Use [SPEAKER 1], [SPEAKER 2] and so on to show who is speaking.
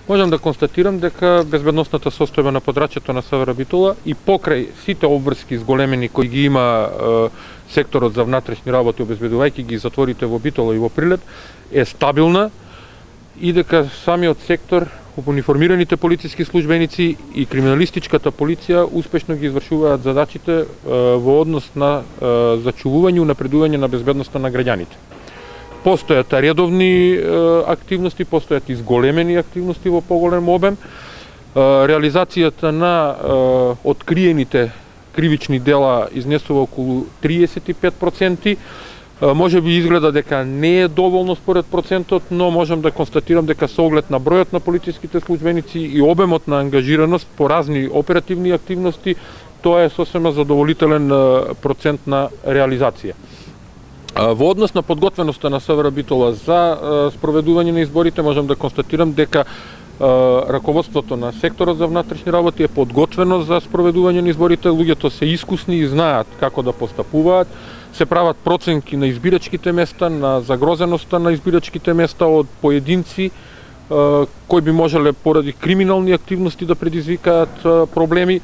[SPEAKER 1] можам да констатирам дека безбедносната состојба на подрачјето на Севера Битола и покрај сите обврски зголемени кои ги има секторот за внатрешни работи, обезбедувајќи ги затворите во Битола и во Прилеп, е стабилна и дека самиот сектор, униформираните полициски службеници и криминалистичката полиција успешно ги извршуваат задачите во однос на зачувување и напредување на безбедноста на граѓаните. Постојат редовни активности, постојат изголемени активности во поголем обем. Реализацијата на откриените кривични дела изнесува околу 35%. Може би изгледа дека не е доволно според процентот, но можам да констатирам дека со оглед на бројот на полициските службеници и обемот на ангажираност по разни оперативни активности, тоа е сосема задоволителен процент на реализација. Во однос на подготвеноста на Севера Битола за спроведување на изборите, можам да констатирам дека раководството на секторот за внатрешни работи е подготвено за спроведување на изборите, луѓето се искусни и знаат како да постапуваат, се прават проценки на избирачките места, на загрозеноста на избирачките места од поединци кои би можеле поради криминални активности да предизвикаат проблеми.